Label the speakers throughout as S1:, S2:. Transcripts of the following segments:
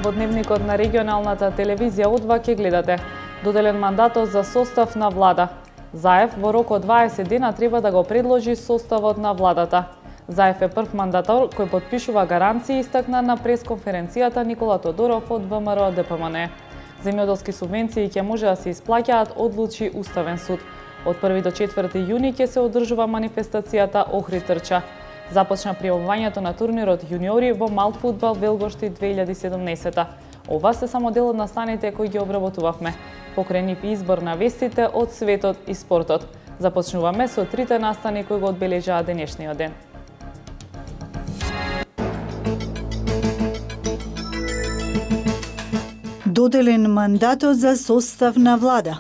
S1: Во дневникот на регионалната телевизија О2 ќе гледате: доделен мандатот за состав на влада. Заев во рок од 20 дена треба да го предложи составот на владата. Заев е прв мандатор кој потпишува гаранции, истакна на пресконференцијата Никола Тодоров од ВМРО ДПМН. Земјоделски субвенции ќе може да се исплаќаат, одлучи Уставен суд. Од 1 до 4 јуни ќе се одржува манифестацијата Охрид трча. Започна пријавувањето на турнирот јуниори во мал фудбал Велгошти 2017. Ова се само дел од настаните кои ги обработувавме. Покрај нив избор на вестите од светот и спортот. Започнуваме со трите настани кои го одбележаа денешниот ден.
S2: Доделен мандатот за состав на влада.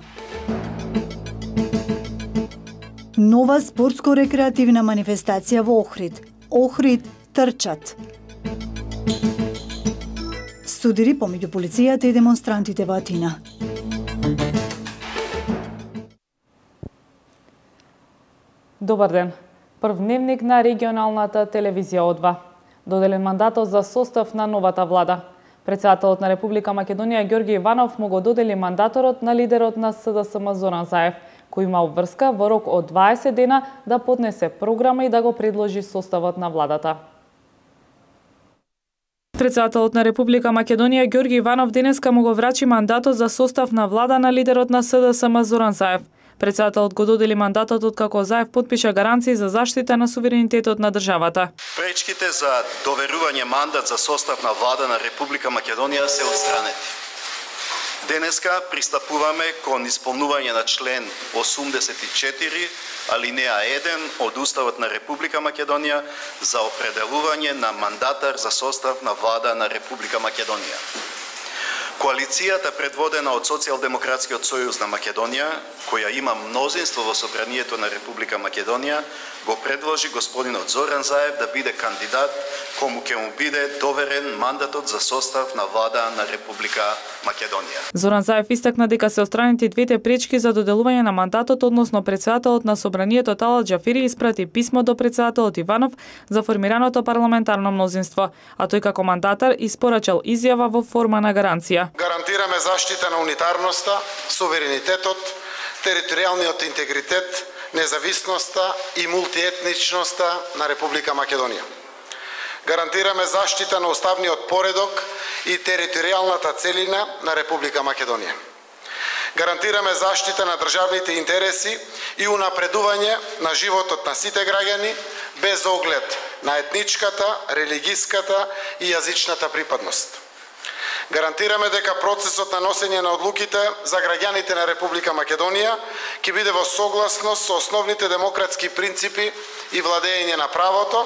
S2: Нова спортско-рекреативна манифестација во Охрид. Охрид трчат. Судири помеѓу полицијата и демонстрантите во Атина.
S1: Добар ден. Прв дневник на регионалната телевизија О2. Доделен мандатот за состав на новата влада. Председателот на Република Македонија Ѓорги Иванов му го додели мандаторот на лидерот на СДСМ Зоран Заев, кој има обврска во рок од 20 дена да поднесе програма и да го предложи составот на владата. Председателот на Република Македонија Ѓорги Иванов денеска му го врачи мандатот за состав на влада на лидерот на СДСМ Зоран Заев. Председателот го додели мандатот откако Заев потпиша гаранции за заштита на суверенитетот на државата.
S3: Пречките за доверување мандат за состав на влада на Република Македонија се отстранети. Денеска пристапуваме кон исполнување на член 84, алинеа 1 од Уставот на Република Македонија за определување на мандатар за состав на влада на Република Македонија. Коалицијата предводена од Социјалдемократскиот сојуз на Македонија, која има мнозинство во Собранието на Република Македонија, го предложи господинот Зоран Заев да биде кандидат кому ќе му биде доверен мандатот за состав на влада на Република Македонија.
S1: Зоран Заев истакна дека се отстранети двете пречки за доделување на мандатот, односно председателот на Собранието Талат Џафери испрати писмо до председателот Иванов за формираното парламентарно мнозинство, а тој како мандатар испорачал изјава во форма на гаранција.
S4: Гарантираме заштита на унитарноста, суверенитетот, територијалниот интегритет, независноста и мултиетничноста на Република Македонија. Гарантираме заштита на уставниот поредок и територијалната целина на Република Македонија. Гарантираме заштита на државните интереси и унапредување на животот на сите граѓани без оглед на етничката, религиската и јазичната припадност. Гарантираме дека процесот на носење на одлуките за граѓаните на Република Македонија ќе биде во согласност со основните демократски принципи и владење на правото,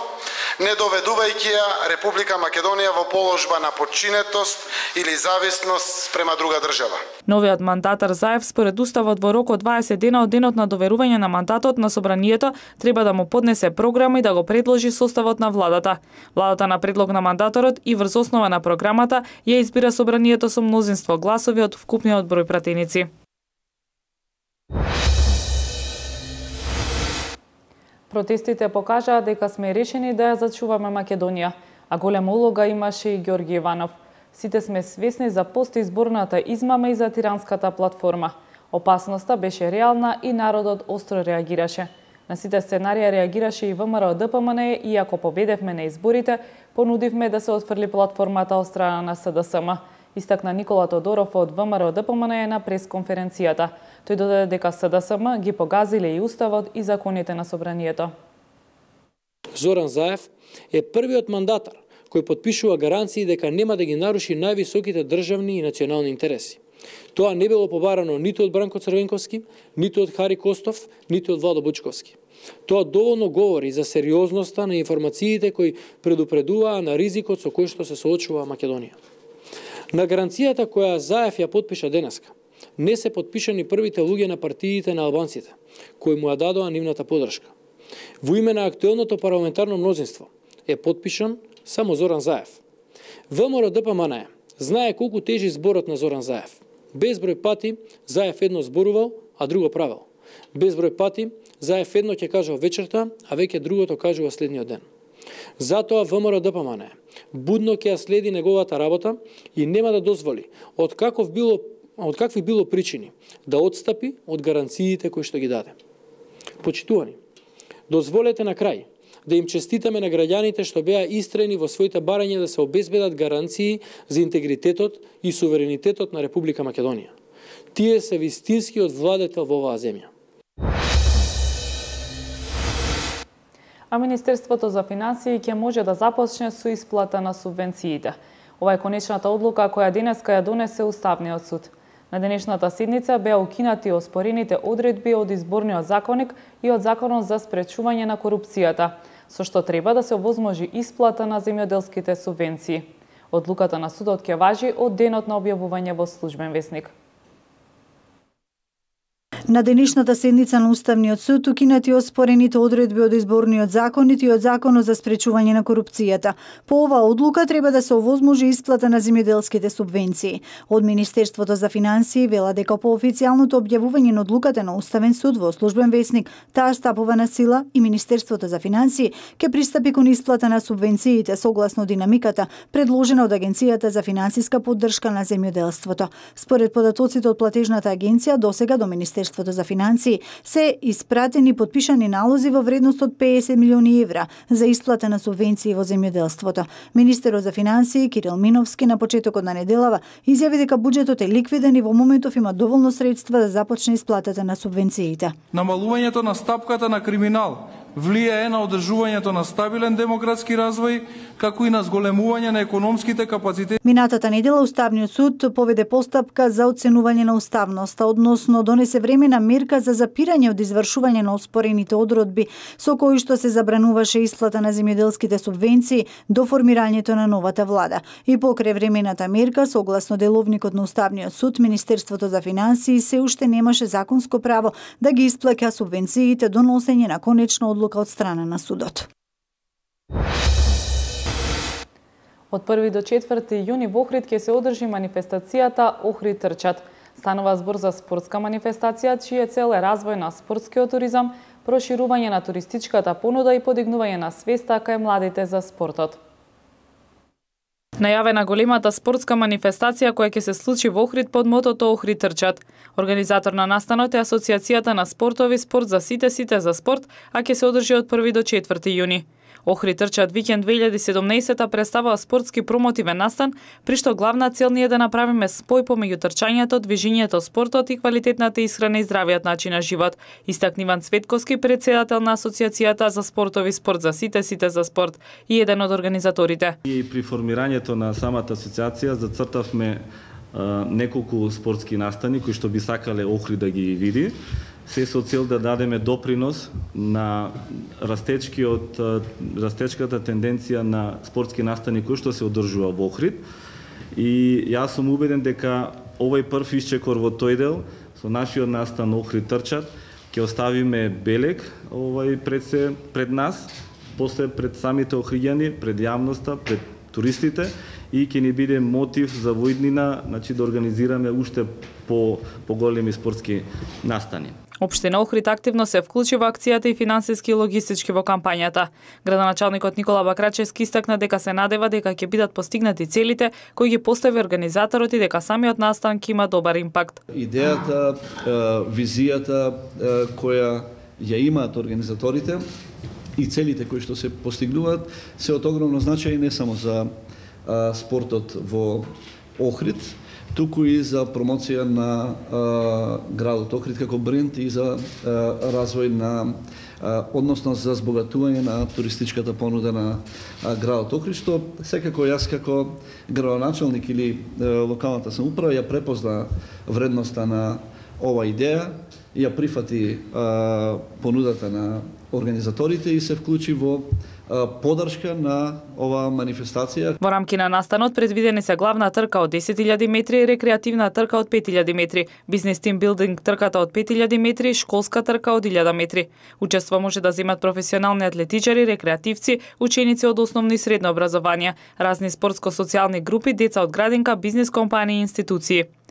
S4: не доведувајќи ја Република Македонија во положба на подчинетост или зависност спрема друга држава.
S1: Новиот мандатар Заев според Уставот во рок од 20 дена од денот на доверување на мандатот на Собранието треба да му поднесе програма и да го предложи составот на владата. Владата на предлог на мандаторот и врз основа на програмата ја избира Собранието со мнозинство гласови од вкупниот број пратеници. Протестите покажаа дека сме решени да ја зачуваме Македонија, а голема улога имаше и Ѓорги Иванов. Сите сме свесни за постизборната измама и за тиранската платформа. Опасноста беше реална и народот остро реагираше. На сите сценарија реагираше и ВМРО ДПМН и ако победевме на изборите, понудивме да се отфрли платформата од страна на СДСМ. Истакна Никола Тодоров од ВМРО ДПМН на пресконференцијата. Тој додаде дека СДСМ ги погазиле и Уставот и законите на Собранието.
S5: Зоран Заев е првиот мандатар кој потпишува гаранции дека нема да ги наруши највисоките државни и национални интереси. Тоа не било побарано ниту од Бранко Црвенковски, ниту од Хари Костов, ниту од Владо Бучковски. Тоа доволно говори за сериозноста на информациите кои предупредуваа на ризикот со кој што се соочува Македонија. На гаранцијата која Заев ја потпиша денеска, не се потпишани првите луѓе на партиите на албанците, кои му ја дадоа нивната подршка. Во име на актуелното парламентарно мнозинство е потпишан само Зоран Заев. ВМРО ДПМН знае колку тежи зборот на Зоран Заев. Безброј пати Заев едно зборувал, а друго правил. Безброј пати Заев едно ќе кажал вечерта, а веќе другото кажува следниот ден. Затоа ВМРО ДПМН будно ќе ја следи неговата работа и нема да дозволи од какви било причини да отстапи од гаранциите кои што ги даде. Почитувани, дозволете на крај да им честитаме на граѓаните што беа истрени во своите барања да се обезбедат гаранции за интегритетот и суверенитетот на Република Македонија. Тие се вистинскиот владетел во оваа земја.
S1: А Министерството за финансии ќе може да започне со исплата на субвенциите. Ова е конечната одлука која денеска ја донесе Уставниот суд. На денешната седница беа укинати оспорените одредби од Изборниот законник и од Законот за спречување на корупцијата, со што треба да се овозможи исплата на земјоделските субвенции. Одлуката на судот ќе важи од денот на објавување во Службен весник.
S2: На денешната седница на Уставниот суд укинати оспорените одредби од Изборниот законник и од Законот за спречување на корупцијата. По оваа одлука треба да се овозможи исплата на земјоделските субвенции. Од Министерството за финансии вела дека по официјалното објавување на одлуката на Уставен суд во Службен весник таа стапува на сила и Министерството за финансии ќе пристапи кон исплата на субвенциите согласно динамиката предложена од Агенцијата за финансиска поддршка на земјоделството. Според податоците од платежната агенција, досега до Министерството за финансии се испратени подпишани налози во вредност од 50 милиони евра за исплата на субвенции во земјоделството. Министерот за финансии Кирил Миновски на почетокот на неделава изјави дека буџетот е ликвиден и во моментов има доволно средства да започне исплатата на субвенциите.
S6: Намалувањето на стапката на криминал влијае на одржувањето на стабилен демократски развој, како и на зголемување на економските капацитети.
S2: Минатата недела Уставниот суд поведе постапка за оценување на уставноста, односно донесе времена мерка за запирање од извршување на оспорените одредби со кои што се забрануваше исплата на земјоделските субвенции до формирањето на новата влада. И покрај времената мерка, согласно деловникот на Уставниот суд, Министерството за финансии се уште немаше законско право да ги исплаќа субвенциите до носење на конечна одлука од страна на судот.
S1: Од 1 до 4 јуни во Охрид ќе се одржи манифестацијата Охрид трчат. Станува збор за спортска манифестација, чија цел е развој на спортскиот туризам, проширување на туристичката понуда и подигнување на свеста кај младите за спортот. Најавена големата спортска манифестација која ќе се случи во Охрид под мотото Охрид трчат. Организатор на настанот е Асоциацијата на спортови спорт за сите за спорт, а ќе се одржи од 1 до 4 јуни. Охрид трчат викенд 2017 представува спортски промотивен настан, при што главна цел ни е да направиме спој помеѓу трчањето, движењето, спортот и квалитетната исхрана и здравиот начин на живот, истакна Иван Цветковски, председател на Асоциацијата за спортови спорт за сите за спорт и еден од организаторите.
S7: И при формирањето на самата асоциација зацртавме неколку спортски настани кои што би сакале Охрид да ги види, се со цел да дадеме допринос на растечката тенденција на спортски настани кои што се одржува во Охрид. И јас сум убеден дека овој прв исчекор во тој дел со нашиот настан Охрид трчат ќе оставиме белег пред нас, после пред самите охриѓани, пред јавноста, пред туристите и ќе ни биде мотив за во иднина, значи да организираме уште поголеми спортски настани.
S1: Општина Охрид активно се вклучи во акцијата и финансиски и логистички во кампањата. Градоначалникот Никола Бакрачевски истакна дека се надева дека ќе бидат постигнати целите кои ги постави организаторот и дека самиот настан ќе има добар импакт.
S8: Идејата, визијата која ја имаат организаторите и целите кои што се постигнуваат се од огромно значај не само за спортот во Охрид, туку и за промоција на градот Охрид како бренд и за развој на односно за збогатување на туристичката понуда на градот Охрид, што секако јас како градоначалник или локалната самоуправа ја препозна вредноста на ова идеја, ја прифати понудата на организаторите и се вклучи во поддршка на оваа манифестација.
S1: Во рамки на настанот предвидени се главна трка од 10.000 метри и рекреативна трка од 5.000 метри, бизнес тим билдинг трката од 5.000 метри и школска трка од 1.000 метри. Учество може да земат професионални атлетичари, рекреативци, ученици од основно и средно образование, разни спортско-социјални групи, деца од градинка, бизнес компании и институции.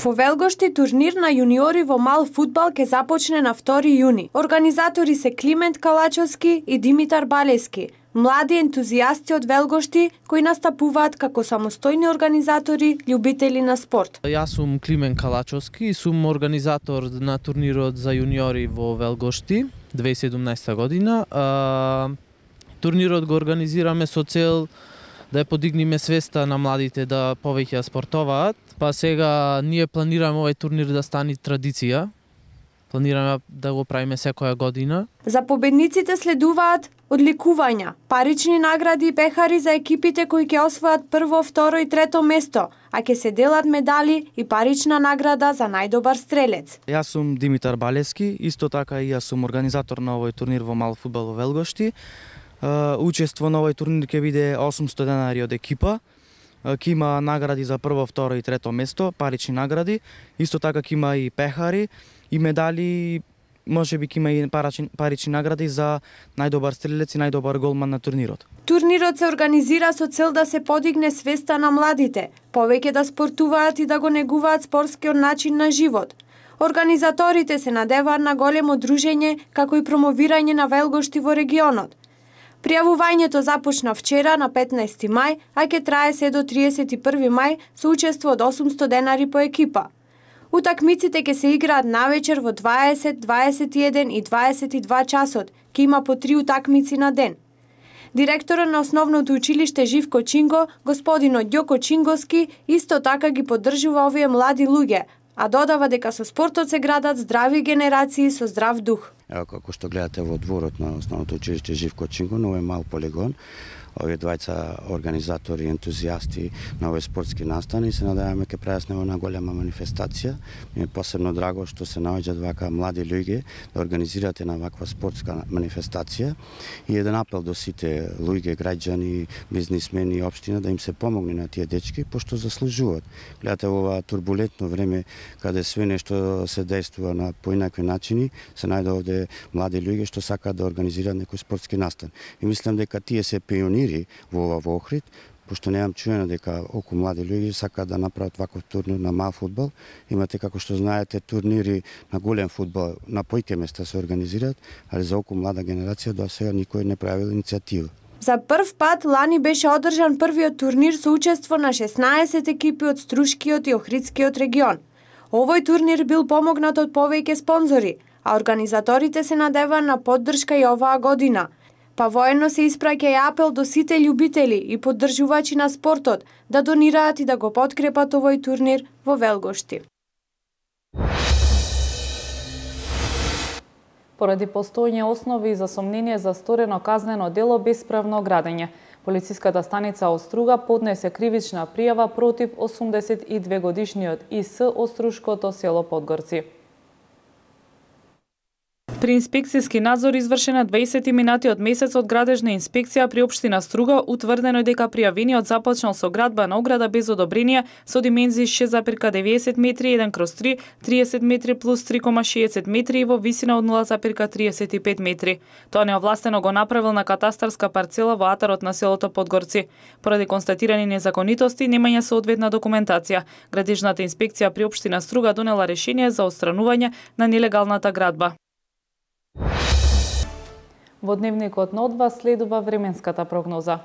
S9: Во Велгошти турнир на јуниори во мал фудбал ќе започне на 2 јуни. Организатори се Климент Калачовски и Димитар Балески, млади ентузијасти од Велгошти кои настапуваат како самостојни организатори, љубители на спорт.
S10: Јас сум Климент Калачовски и сум организатор на турнирот за јуниори во Велгошти 2017 година. Турнирот го организираме со цел да ја подигнеме свеста на младите да повеќе спортуваат. Па сега ние планираме овој турнир да стане традиција. Планираме да го правиме секоја година.
S9: За победниците следуваат одликувања, парични награди и пехари за екипите кои ќе освојат прво, второ и трето место, а ќе се делат медали и парична награда за најдобар стрелец.
S11: Јас сум Димитар Балески, исто така и јас сум организатор на овој турнир во мал фудбал во Велгошти. Учество на овој турнир ќе биде 800 денари од екипа. Ќе има награди за прво, второ и трето место, парични награди. Исто така ќе има и пехари и медали, можеби ќе има и парични награди за најдобар стрелец и најдобар голман на турнирот.
S9: Турнирот се организира со цел да се подигне свеста на младите, повеќе да спортуваат и да го негуваат спортскиот начин на живот. Организаторите се надеваат на големо дружење како и промовирање на Велгошти во регионот. Пријавувањето започна вчера на 15 мај, а ќе трае се до 31 мај со учество од 800 денари по екипа. Утакмиците ќе се играат навечер во 20, 21 и 22 часот. Ќе има по 3 утакмици на ден. Директорот на основното училиште Живко Чинго, господинот Ѓоко Чинговски, исто така ги поддржува овие млади луѓе, а додава дека со спортот се градат здрави генерации со здрав дух.
S12: Ево како што гледате во дворот на основното училиште Живко Чинго, на овој мал полигон, овие двајца организатори, ентузијасти на овој спортски настан и се надеваме ќе прават една голема манифестација. Ми е посебно драго што се наоѓаат вака млади луѓе да организираат една ваква спортска манифестација и еден апел до сите луѓе, граѓани, бизнисмени и општина да им се помогне на тие дечки пошто заслужуваат. Гледате во ова турбулентно време каде све нешто се действува на поинакви начини, се најде овде млади луѓе што сакаат да организираат некој спортски настан. И мислам дека тие се пионири во Охрид, пошто немам чуено дека околу млади луѓе сакаат да направат ваков турнир на мал фудбал. Имате, како што знаете, турнири на голем фудбал на поиќе места се организираат, али за околу млада генерација до сега никој не правил иницијатива.
S9: За прв пат лани беше одржан првиот турнир со учество на 16 екипи од Струшкиот и Охридскиот регион. Овој турнир бил помогнат од повеќе спонзори, а организаторите се надеваат на поддршка и оваа година. Па воедно се испраќа и апел до сите љубители и поддржувачи на спортот да донираат и да го подкрепат овој турнир во Велгошти.
S1: Поради постојање основи за сомнение за сторено казнено дело бесправно градење, полициската станица Оструга поднесе кривична пријава против 82 годишниот ИС од Струшкото село Подгорци. При инспекцијски надзор извршен на 20 минати од месецот градежна инспекција при општина Струга утврдено е дека пријавениот започнал со градба на ограда без одобрение со димензии 6,90 метри 1/3, 30 метри плюс 3,60 метри и во висина од 0,35 метри. Тоа неовластено го направил на катастарска парцела во атарот на селото Подгорци. Поради констатирани незаконитости и немање соодветна документација, градежната инспекција при општина Струга донела решение за отстранување на нелегалната градба. Во дневникот на одва следува временската прогноза.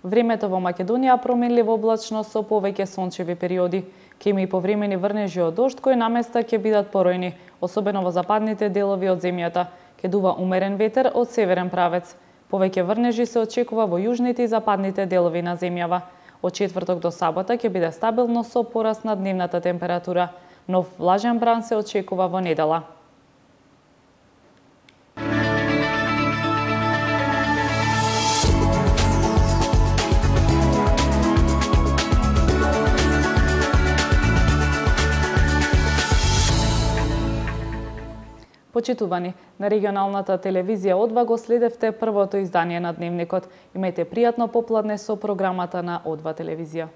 S1: Времето во Македонија променливо облачно со повеќе сончеви периоди. Ќе има и повремени врнежи од дожд кои наместа ќе бидат поројни, особено во западните делови од земјата. Ќе дува умерен ветер од северен правец. Повеќе врнежи се очекува во јужните и западните делови на земјава. Од четврток до сабота ќе биде стабилно со пораст на дневната температура. Нов влажен бран се очекува во недела. Почитувани, на регионалната телевизија Одва го следевте првото издание на Дневникот. Имајте пријатно попладне со програмата на Одва телевизија.